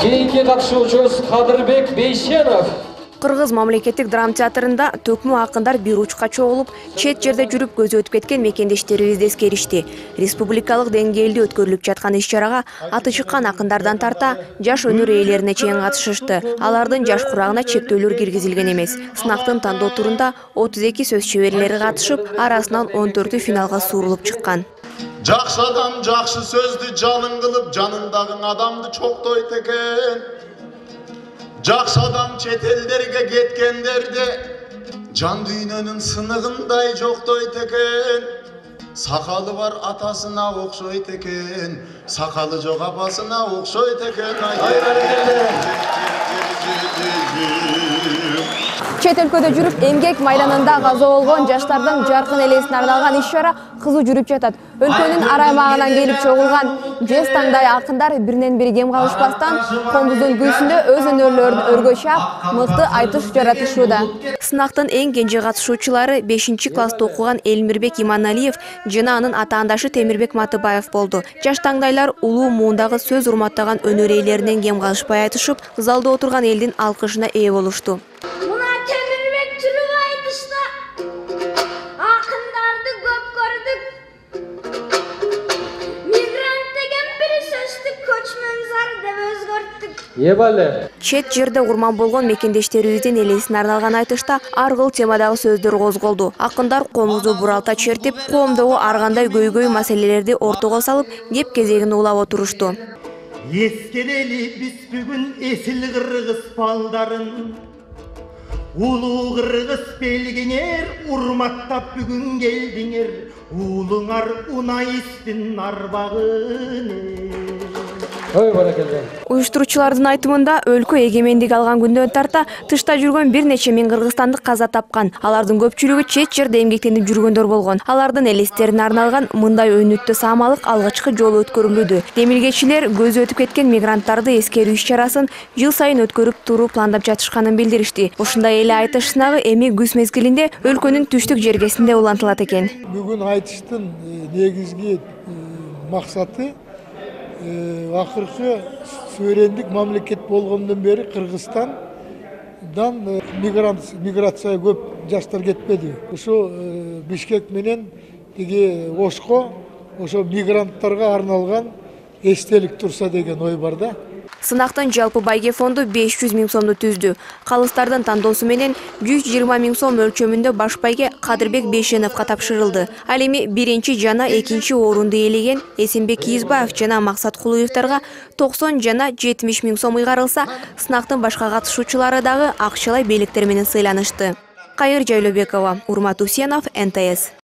Кийинки катышуучубуз Кадырбек Бейшенов. Кыргыз мамлекеттик драма театрында төкмө акындар бир учка чогулуп, чет жерде жүрүп көзү өтүп кеткен мекендештерибизди эскеришти. Республикалык деңгээлде өткөрүлүп жаткан иш-чарага аты чыккан акындардан тарта жаш өнөр ээлерине чейин катышышты. Алардын жаш курагына чектөөлөр киргизилген эмес. Сынактын тандоо турунда 32 сөз чеберлери катышып, арасынан 14-ү финалга суурулуп чыккан. Жакшы адам жакшы сөздү жалын кылып, жанындагы адамды чоктойт экен. Жакшы адам чет элдерге кеткендерде жан дүйнөнүн сыныгындай жоктойт экен. Сакалы бар атасына окшойт экен, сакалы жок апасына окшойт экен. Чет өлкөдө жүрүп, эмгек майданында каза болгон жаштардын жаркын элесине арналган иш-чара кызуу жүрүп жатат. Өлкөнүн ар аймагынан келип чогулган жез таңдай акындар биринен бири кем калышпастан коңуздун гүлсүндө өз өнөрлөрүн өргө чаап, мыкты айтыш жаратышууда. Сынактын эң кенже катышуучулары 5-класста окуган Элмирбек Иманалиев жана анын атаандашы Темирбек Матыбаев болду. Жаш таңдайлар улуу муундагы сөз урматтаган өнөр ээлеринен кем калышпай айтышып, залда отурган элдин алкышына ээ болушту. Чет жерде урман болгон мекендештерибиздин элесине арналган айтышта ар кыл темадагы сөздөр козголду. Акындар коомузду буралта чертип, коомдогу ар кандай көйгөй маселелерди ортого салып, кеп кезегин улап отурушту. Ескелели биз бүгүн эсил кыргыз балдарын, улуу кыргыз белгиңер урматтап бүгүн келдиңер, уулуңар Унаистин арбагын. Уюштуруучулардын айтымында өлкө эгемендик алган күндөн тарта тышта жүргөн бир нече миң кыргызстандык каза тапкан. Алардын көпчүлүгү чет жерде эмгектенип жүргөндөр болгон. Алардын элестерине арналган мындай өнүттүү саамалык алгачкы жолу өткөрүлүүдө. Демилгечилер көзү өтүп кеткен мигранттарды эскерүү иш-чарасын жыл сайын өткөрүп туруу пландап жатышканын билдиришти. Ушундай эле айтыш сынагы эми күз мезгилинде өлкөнүн түштүк жергесинде улантылат экен. Бүгүн айтыштын негизги максаты акыркы суверендик мамлекет болгондон бери Кыргызстандан миграция көп жаштар кетпеди. Ошо Бишкек менен тиги Ошко ошо мигранттарга арналган эстелик турса деген ой бар да. Сынактын жалпы байге фонду 500 000 сомду түздү. Калыстардын тандоосу менен 120 000 сом өлчөмүндө баш байге Кадырбек Бейшеновго тапшырылды. Ал эми биринчи жана экинчи орунду ээлеген Эсенбек Кийизбаев жана Максат Кулуевдарга 90 жана 70 000 сом ыйгарылса, сынактын башка катышуучулары дагы акчалай белектер менен сыйланышты. Кайыр Жайлообекова, Урмат Усенов, НТС.